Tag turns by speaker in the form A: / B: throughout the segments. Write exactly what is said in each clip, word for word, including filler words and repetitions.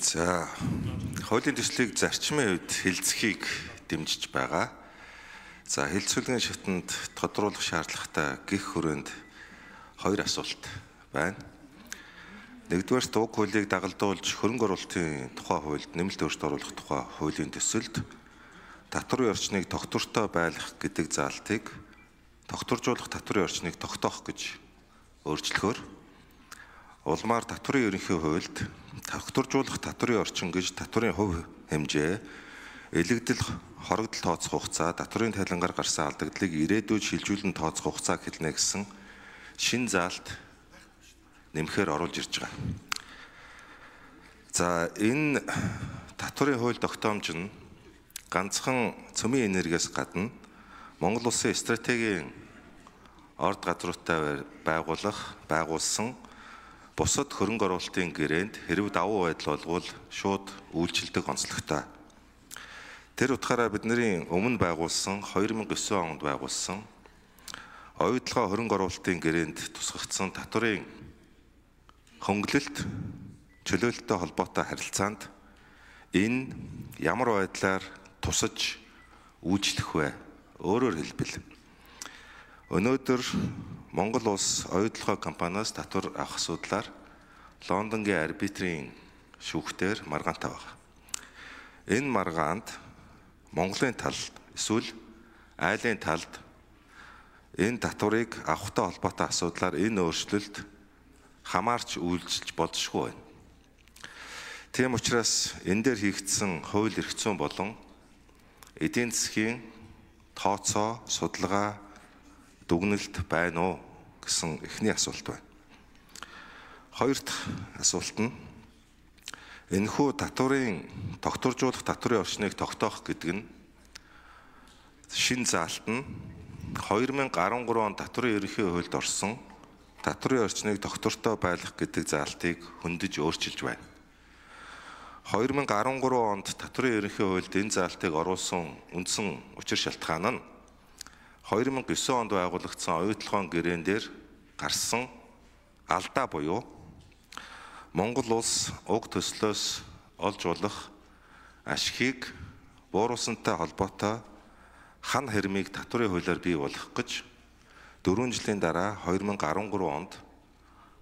A: За хуулийн төслийг зарчмын үед хэлцэхийг дэмжиж байгаа. За хэлцүүлгийн шатанд тодруулах шаардлагатай гэх хүрээнд хоёр асуулт байна. Нэгдүгээр уг хуулийг дагалдуулж хөрөнгө оруулалтын тухай хуульд нэмэлт өөрчлөлт оруулах тухай хуулийн төсөлд татварын орчныг тогтвортой байлгах гэдэг заалтыг тогтворжуулах татварын орчныг тогтоох гэж өөрчлөхөөр улмаар татварын ерөнхий хуульд тогтворжуулах татварын орчин гэж татварын хувь хэмжээ, элэгдэл хорогдол тооцох хугацаа, татварын тайлангаар гарсан алдагдлыг ирээдүйд шилжүүлэн тооцох хугацаа хэлнэ гэсэн шин заалт нэмэхээр оруулж ирж байгаа. За энэ татварын хууль тогтоомж нь ганцхан цөмийн энергиас гадна Монгол улсын стратегийн орд газруудтай байгуулах, байгуулсан бусад хөрөнгө оруулалтын гэрээнд хэрв давуу байдал болвол шууд үйлчилдэг онцлогтой. Тэр утгаараа бидний өмнө байгуулсан две тысячи девять онд байгуулсан оюутлогоо хөрөнгө оруулалтын гэрээнд тусгагдсан татварын хөнгөлөлт чөлөөлөлтөй холбоотой харилцаанд энэ ямар байдлаар тусаж үйлчлэх вэ? Өөрөөр хэлбэл өнөөдөр Монгол улс оюутлогоо компаниас татвар авах асуудлаар Лондонгийн арбитрийн шүүхтээр маргаантай байна. Энэ маргаанд Монголын талд эсвэл айлын талд энэ татварыг авахтай холбоотой асуудлаар энэ өөрчлөлт хамаарч үйлчилж болзошгүй байна. Тийм учраас энэ дээр хийгдсэн хууль эрх зүйн болон эдийн засгийн тооцоо, судалгаа, дүгнэлт байна уу гэсэн эхний асуулт байна. Хоёр дахь асуулт нь энэхүү татварын тогтворжуулах татварын орчныг тогтоох гэдэг нь шин заалт нь две тысячи десять онд татварын ерөнхий хуульд орсон татварын орчныг тогтвортой байлгах гэдэг заалтыг хөндөж өөрчилж байна. две тысячи десять онд татварын ерөнхий хуульд энэ заалтыг оруулсан үндсэн учир шалтгаан нь две тысячи девять онд байгуулагдсан оюутлогын гэрээн дээр гарсан алдаа буюу Монгол улс уг төслөөс олж болох ашигыг бууруулсантай холбоотой хан хэрмийг татварын хуулиар бий болгох гэж дөрвөн жилийн дараа две тысячи десять онд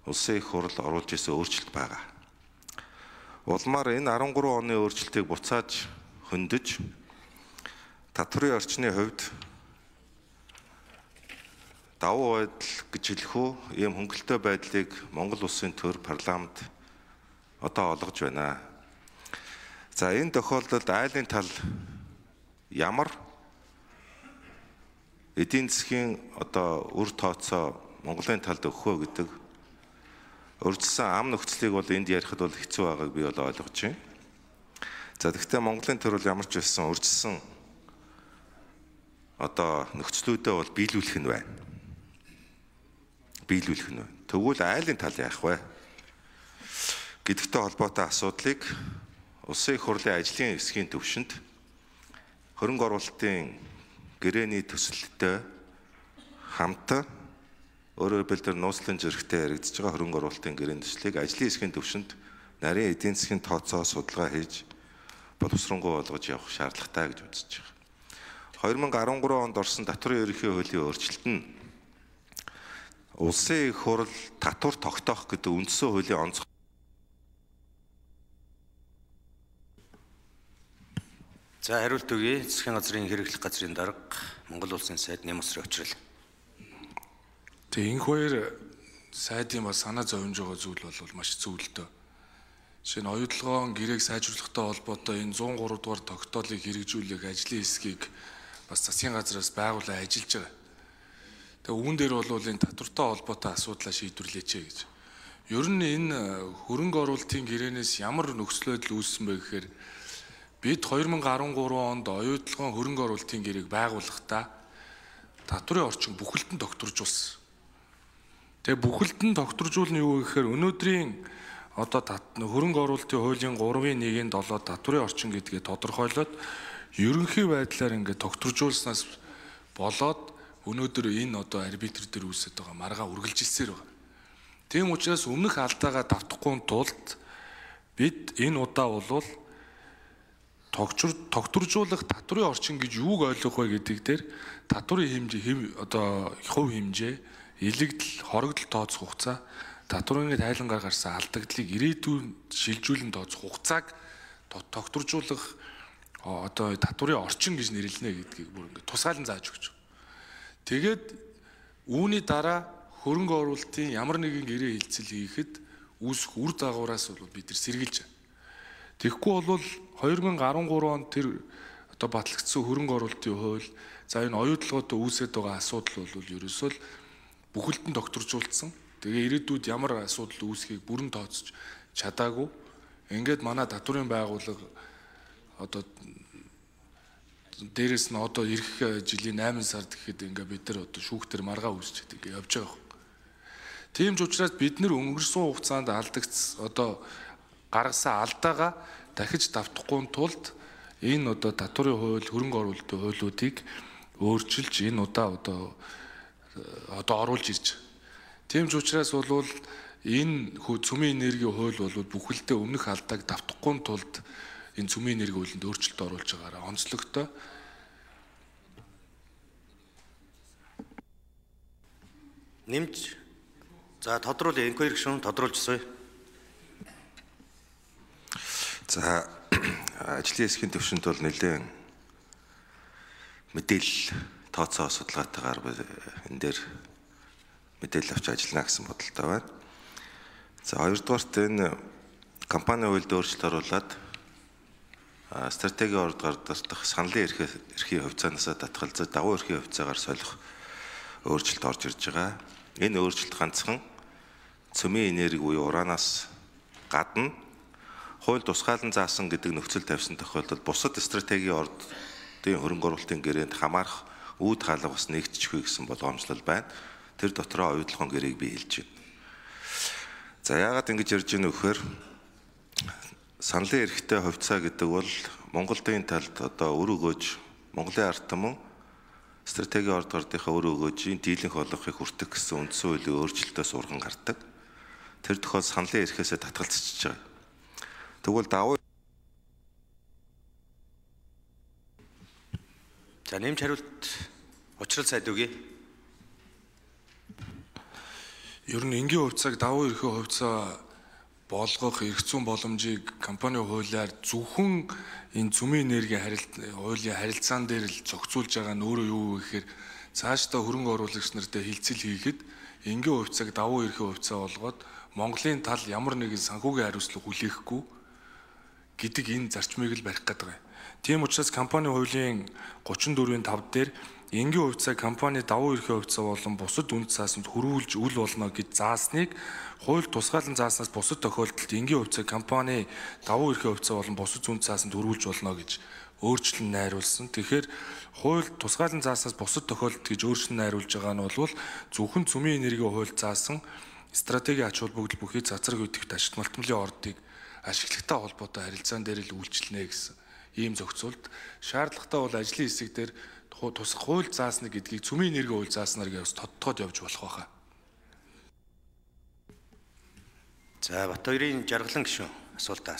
A: улсын их хурл оруулж исэн өөрчлөлт байгаа. Улмаар энэ десять оны өөрчлөлтийг буцааж хөндөж татварын орчны хувьд давуу байдал гэж хэлэх үү, ийм хөнгөлтэй байдлыг Монгол улсын төр парламент одоо олгож байна. За энэ тохиолдолд айлын тал ямар эдийн засгийн одоо үр тооцоо Монголын талд өгөх вэ гэдэг урьдчилсан ам нөхцөлийг бол энд ярихад бол хэцүү байгааг би бол ойлгож байна. За гэхдээ Монголын төр бол ямар ч байсан урьдчилсан одоо нөхцлүүдээ бол биелүүлэх нь байна. биелүүлэх нь. Тэгвэл айлын тал яах вэ? Гэдэгтэй холбоотой асуудлыг улсын их хурлын ажлын хэсгийн төвшөнд хөрөнгө оруулалтын гэрээний төсөлтөд хамт өөрөөр хэлбэл нууцлын зэрэгтэй яригдж байгаа хөрөнгө оруулалтын гэрээний төслийг ажлын хэсгийн төвшөнд нарийн эдийн засгийн тооцоо судалгаа хийж боловсронгуй болгож явах шаардлагатай гэж үзэж байгаа. две тысячи десять онд орсон татварын ерөнхий хуулийн өөрчлөлт нь улсын их хурл татвар тогтоох гэдэг үндсэн хуулийн онцгой.
B: За хариулт өгье. Засгийн газрын хэрэглэх газрын дарга Монгол улсын сайд Нямсрын очрол.
C: Тэгээ энэ хоёр сайдын бас санаа зовж байгаа зүйл бол маш зөвлөлтөө. Жишээ нь оюутлогоон гэрээг сайжруулахтай холбоотой энэ one oh three дугаар тогтоолыг хэрэгжүүлэх ажлын хэсгийг бас засгийн газраас байгуулан ажиллаж байгаа. Тэгээ үүн дээр бол энэ татвартай холбоотой асуудлаа шийдвэрлэеч гэж. Ер нь энэ хөрөнгө оруулалтын гэрээнээс ямар нөхцөл байдал үүссэн бэ гэхээр бид две тысячи десять онд оюутлогоон хөрөнгө оруулалтын гэрээг байгуулахдаа татварын орчин бүхэлд нь тогтворжуулсан. Тэгээ бүхэлд нь тогтворжуулна юу гэхээр өнөөдрийн одоо хөрөнгө оруулалтын хуулийн three-ийн one-ийн seven татварын орчин гэдгээ тодорхойлоод ерөнхий байдлаар ингээд тогтворжуулснаас болоод өнөөдөр энэ одоо арбитр дээр үүсэж байгаа маргаа үргэлжилсээр байна. Тийм учраас өмнөх алдаагаа давтахгүй тулд бид энэ удаа болвол тогтвор тогтворжуулах татврын орчин гэж юуг ойлгох вэ гэдэг дээр татврын хэмжээ одоо хувь хэмжээ, илэгдэл, хоригдол тооцох хугацаа, татврын тайлангаар гарсан алдагдлыг ирээдүйн шилжүүлэн тооцох хугацааг тогтворжуулах одоо татврын орчин гэж нэрлэнэ гэдгийг бүр ингээд тусгаалan зааж өгч. Тэгээд үүний дараа хөрөнгө оруулалтын ямар нэгэн гэрээ хилцэл хийхэд үүсэх үр дагавраас бол бид нар сэргийлж байна. Тэгэхгүй бол two thousand thirteen онд тэр одоо батлагдсан хөрөнгө оруулалтын хууль, за энэ оюутлоготой үүсэж байгаа асуудал бол ерөөсөө л бүхэлдэн тогтворжуулсан. Тэгээ ирээдүйд ямар асуудал үүсхийг бүрэн тооцож чадаагүй. Ингээд манай татврын байгууллага одоо дээрэс нь одоо эх жилийн eight сард гэхэд ингээ бид нар одоо шүүхтэр маргаа үүсчихэд ингээ явж байгаа юм. Тийм ч учраас бид нар өнгөрсөн хугацаанд алдагц одоо гаргасан алдаагаа дахиж давтахгүй тулд энэ одоо татврын хууль, хөрөнгө оруулалтын хуулиудыг өөрчилж энэ удаа одоо одоо оруулж ирж. Тийм ч учраас бол энэ цөмийн энергийн хууль бол бүхэлдээ өмнөх алдааг давтахгүй тулд энэ цөмийн энерги хуулинд өөрчлөлт оруулж байгаараа онцлогтой.
B: Нэмж за тодруулъя, инквайри гишүүн тодруулж асууя.
A: За ажлын хэсгийн төвшөнд бол нэлээд мэдээлэл тооцоо судалгаатайгаар энэ дээр мэдээлэл авч ажиллана гэсэн бодолтой байна. За хоёрдугаарт энэ компани хуульд өөрчлөлт оруулаад стратегийн орд гардах саналын эрхийн хувьцаанаас татгалзаж давуу эрхийн хувьцаагаар солих өөрчлөлт орж ирж байгаа. Энэ өөрчлөлт ганцхан цөмийн энерги буюу ураанаас гадна хууль тусгаалan заасан гэдэг нөхцөл тавьсан тохиолдолд бусад стратегийн ордын хөрөнгө оруулалтын гэрээнд хамаарах үүд хаалга бас нэгдчихвэ гэсэн болгоомжлол байна. Тэр дотроо оюутлогын гэрээг би хэлж байна. За яагаад ингэж ярьж байна вэ гэхээр саналын эрхтэй хувьцаа гэдэг бол Монголын талд одоо өр өгөөж Монголын ард түмэн стратегийн орд гардынхаа өр өгөөжийн дийлэнх болгохыг хүртэх гэсэн үндсэн хуулийн өөрчлөлтөөс урган гардаг. Тэр тохиол саналын эрхээсээ татгалзчихж байгаа. Тэгвэл давуу
B: за нэмж хариулт учрал сайд үгүй.
C: Ер нь энгийн хувьцааг давуу эрхийн хувьцаа болгох эрх зүйн боломжийг компани хуулиар зөвхөн энэ цөмийн энергийн харилцаа хуулийн харилцаан дээр л зохицуулж байгаа нь өөрөө юу вэ гэхээр цаашдаа хөрөнгө оруулагч нартай хилцэл хийхэд энгийн хувьцааг давуу эрхийн хувьцаа болгоод Монголын тал ямар нэгэн санхүүгийн хариуцлага хүлээхгүй гэдэг энэ зарчмыг л барих гэдэг юм. Тийм учраас компани хуулийн thirty-four five дээр энгийн хувьцаа компани давуу эрхийн хувьцаа болон бусад үнд цаасанд хөрвүүлж үл болно гэж заасныг хууль тусгаалan зааснаас бусад тохиолдолд энгийн хувьцаа компани давуу эрхийн хувьцаа болон бусад үнд цаасанд хөрвүүлж болно гэж өөрчлөн найруулсан. Тэгэхээр хууль тусгаалan зааснаас бусад тохиолдолд гэж өөрчлөн найруулж байгаа нь бол зөвхөн цөмийн энергийн хууль заасан стратегийн ач холбогдол бүхий цацраг үүдэгт ашигт малтмлын ордыг ашиглагтай холбоотой харилцаан дээр л үйлчлэнэ гэсэн ийм зохицуулт. Шаардлагатай бол ажлын хэсэг дээр тусах хууль заасна гэдгийг цөмийн энерги хууль зааснаар гэвс тодтогод явж болох байхаа.
B: За Бат хоёрын жаргалан гишүүн асуултаа асууя.